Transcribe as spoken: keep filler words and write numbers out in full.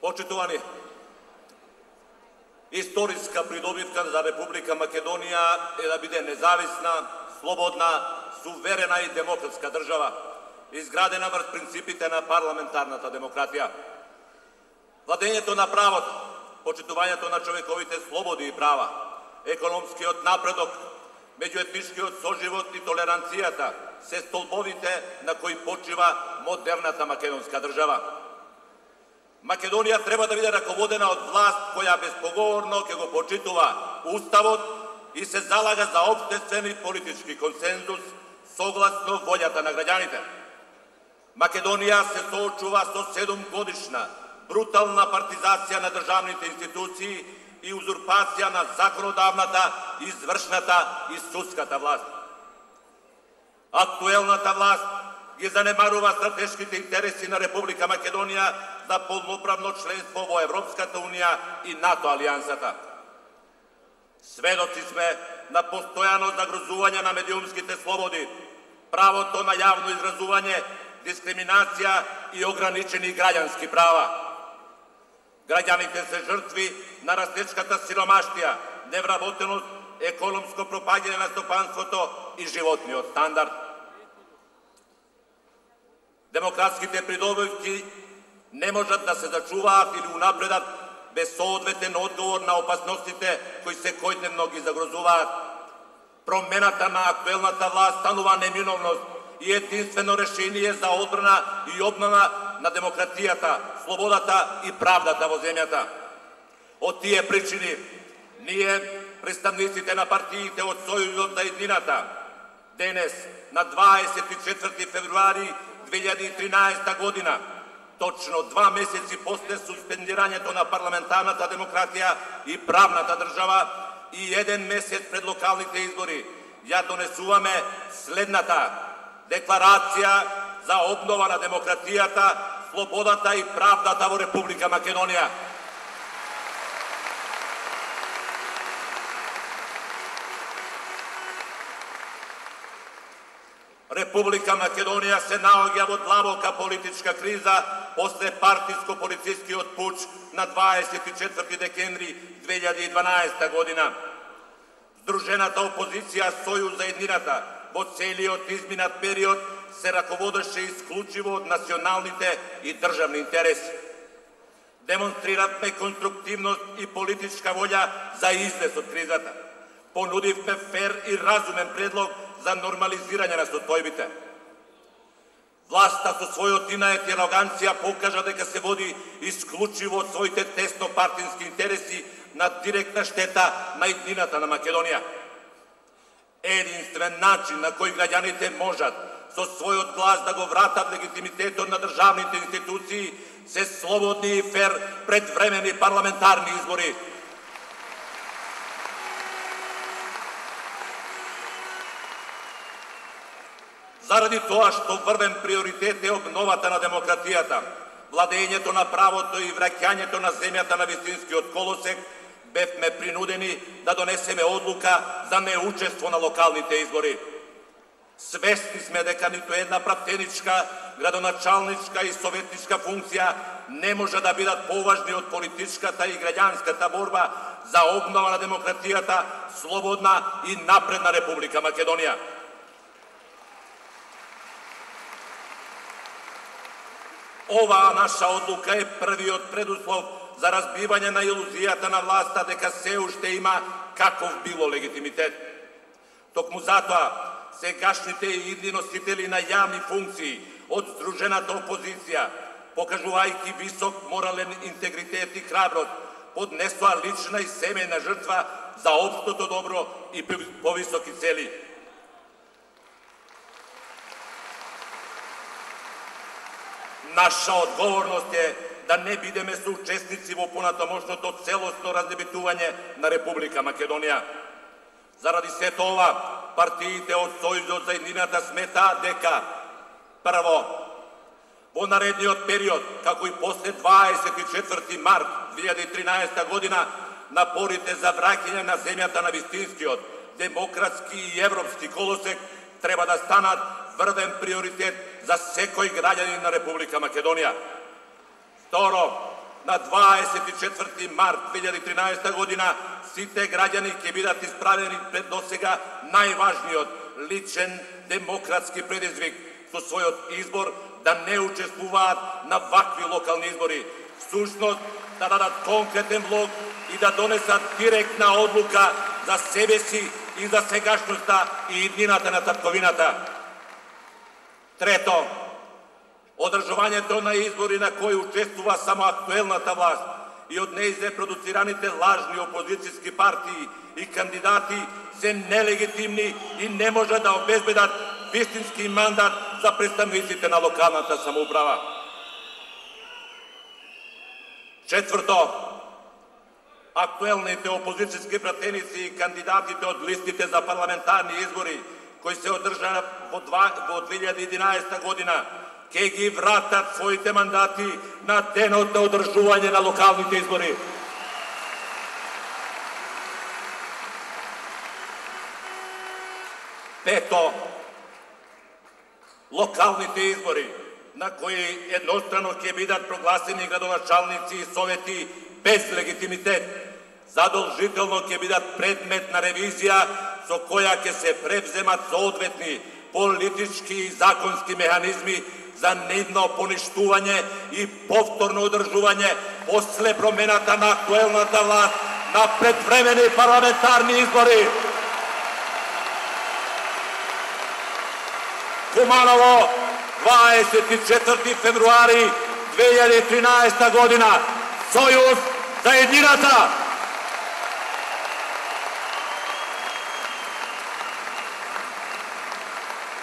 Почитувани, историска придобивка за Република Македонија е да биде независна, слободна, суверена и демократска држава, изградена врз принципите на парламентарната демократија. Владењето на правото, почитувањето на човековите слободи и права, економскиот напредок, меѓуетничкиот соживот и толеранцијата се столбовите на кои почива модерната македонска држава. Македонија треба да биде раководена од власт која безпоговорно ќе го почитува Уставот и се залага за општествен и политички консензус согласно волјата на граѓаните. Македонија се соочува со седумгодишна брутална партизација на државните институции и узурпација на законодавната, извршната и судската власт. Актуелната власт ги занемарува стратешките интереси на Република Македонија за полноправно членство во Европската Унија и НАТО алијансата. Сведоци сме на постојано загрозување на медиумските слободи, правото на јавно изразување, дискриминација и ограничени граѓански права. Граѓаните се жртви на растечката сиромаштија, невработеност, економско пропаѓање на стопанството и животниот стандард. Демократските придобивки не можат да се зачуваат или унапредат без соодветен одговор на опасностите кои секојдневно ги загрозуваат. Промената на актуелната власт станува неминовност и единствено решение за одбрана и обнова на демократијата, слободата и правдата во земјата. Од тие причини, ние, представниците на партиите од Сојузот за еднината, денес, на дваесет и четврти февруари две илјади и тринаесета година, точно два месеци после суспендирањето на парламентарната демократија и правната држава и еден месец пред локалните избори, ја донесуваме следната декларација за обнова на демократијата, слободата и правдата во Република Македонија. Република Македонија се наоѓа во длабока политичка криза после партиско-полицискиот пуч на дваесет и четврти декември две илјади и дванаесета година. Здружената опозиција Сојуз за еднината во целиот изминат период се раководеше исклучиво од националните и државни интереси. Демонстриравме конструктивност и политичка волја за излез од кризата. Понудивме фер и разумен предлог за нормализирање на состојбите. Власта со својот инат и ароганција покажа дека се води исклучиво од своите тесно партински интереси на директна штета на еднината на Македонија. Единствен начин на кој граѓаните можат со својот глас да го вратат легитимитетот на државните институции се слободни и фер предвремени парламентарни избори. Заради тоа што врвен приоритет е обновата на демократијата, владењето на правото и враќањето на земјата на вистинскиот колосек, бевме принудени да донесеме одлука за неучество на локалните избори. Свесни сме дека ниту една пратеничка, градоначалничка и советничка функција не може да бидат поважни од политичката и граѓанската борба за обнова на демократијата, слободна и напредна Република Македонија. Оваа наша одлука е првиот предуслов за разбивање на илузијата на власта дека се уште има каков било легитимитет. Токму затоа, сегашните и идни носители на јавни функции од здружената опозиција, покажувајќи висок морален интегритет и храброст, поднесоа лична и семејна жртва за општото добро и повисоки цели. Наша одговорност е да не бидеме соучесници во понатамошното целосно разнебитување на Република Македонија. Заради сето ова, партиите од Сојузот за еднината сметаат дека прво, во наредниот период, како и после дваесет и четврти март две илјади и тринаесета година, напорите за враќање на земјата на вистинскиот, демократски и европски колосек треба да станат врвен приоритет за секој граѓанин на Република Македонија. Второ, на дваесет и четврти март две илјади и тринаесета година сите граѓани ќе бидат исправени пред досега најважниот личен демократски предизвик со својот избор да не учествуваат на вакви локални избори. Всушност да дадат конкретен влог и да донесат директна одлука за себе си и за сегашноста и иднината на татковината. Трето, одржувањето на избори на кои учествува само актуелната власт и од неизе продуцираните лажни опозицијски партии и кандидати се нелегитимни и не може да обезбедат вистински мандат за представниците на локалната самоуправа. Четврто, актуелните опозицијски пратеници и кандидатите од листите за парламентарни избори кои се одржаа во две илјади и единаесета година ќе ги вратат своите мандати на денот на одржување на локалните избори. Пето, локалните избори на кои еднострано ќе бидат прогласени градоначалници и совети без легитимитет, задолжително ќе бидат предмет на ревизија со која ќе се превземат соодветни политички и законски механизми за нивно поништување и повторно одржување после промената на актуелната власт на предвремени парламентарни избори. Куманово, дваесет и четврти февруари две илјади и тринаесета година. Сојуз за едината!